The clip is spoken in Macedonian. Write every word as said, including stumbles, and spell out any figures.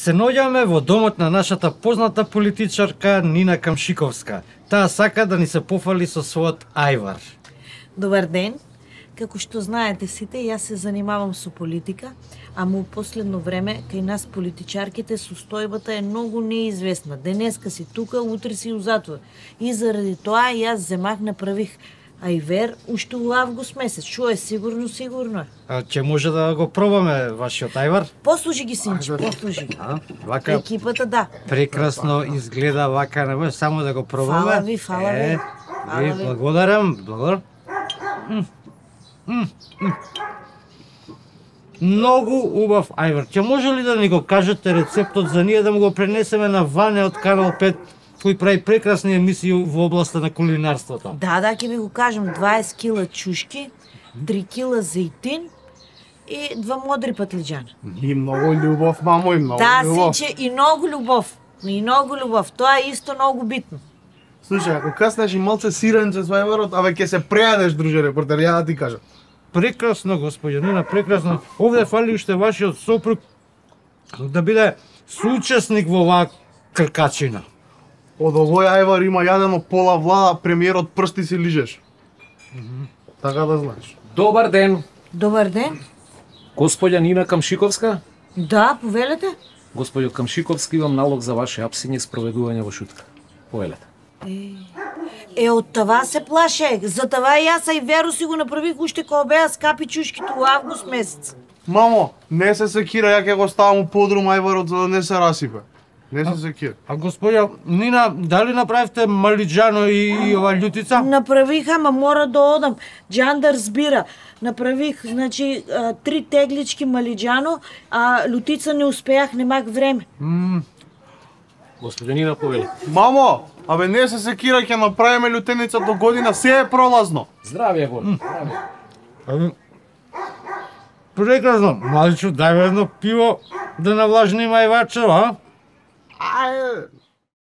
Се наоѓаме во домот на нашата позната политичарка Нина Камшиковска. Таа сака да ни се пофали со својот ајвар. Добар ден. Како што знаете сите, јас се занимавам со политика, ама у последно време кај нас политичарките состојбата е многу неизвестна. Денеска си тука, утре си у затвор. И заради тоа јас земах направих ајвер уште у август месец. Што е сигурно, сигурно е. А ќе може да го пробаме вашиот ајвар? Послужи ги, синче, послужи. А, вака Екипата, да. прекрасно изгледа, вака не може само да го пробаме. Фала ви, фала ви. Е, Фала ви ви. благодарам, благодарам. М, м, м. Многу убав ајвар. Ќе може ли да ни го кажете рецептот за ние да му го пренесеме на Ване од Канал пет, кој прави прекрасни емисии во областа на кулинарството? Да, да, ќе ви го кажам. дваесет кила чушки, три кила зејтин и два модри патлиџана. И многу љубов, мамо, и многу Да, љубов. синче, и многу љубов. И многу љубов. Тоа е исто многу битно. Слушај, ако каснеш и малце сиренче со ајварот, абе ќе се прејадеш, друже репортер, ја да ти кажам. Прекрасно, господја Нина, прекрасно. Овде фали уште вашиот сопруг да биде соучесник во оваа кркачина. Од овој ајвар има јадено пола влада, премиерот прсти си лижеш. Така да знаеш. Добар ден, Добар ден. господја Нина Камшиковска. Да, повелете. Господјо Камшиковски, имам налог за ваше апсење и спроведување во шутка. Повелете. Е, од това се плашех. За това и јас ајверу си го направих уште кога беа скапи чушките у август месец. Мамо, не се секира, ја ќе го ставам у подрум ајварот за да не се расипе. Не се секира. А господја Нина, дали направивте малиџано и, и ова љутица? Направих, ама мора да одам. Джандар збира. Направих, значи, а, три теглички малиџано, а лутица не успеах, немак време. Господја Нина, повелете. Мамо, абе не се секира, ќе направиме лютеница до година, се е пролазно. Здравје, Бор. Здравје. Ами, прекрасно. Маличо, дај едно пиво да навлажниме ајварчево, а? Ајде.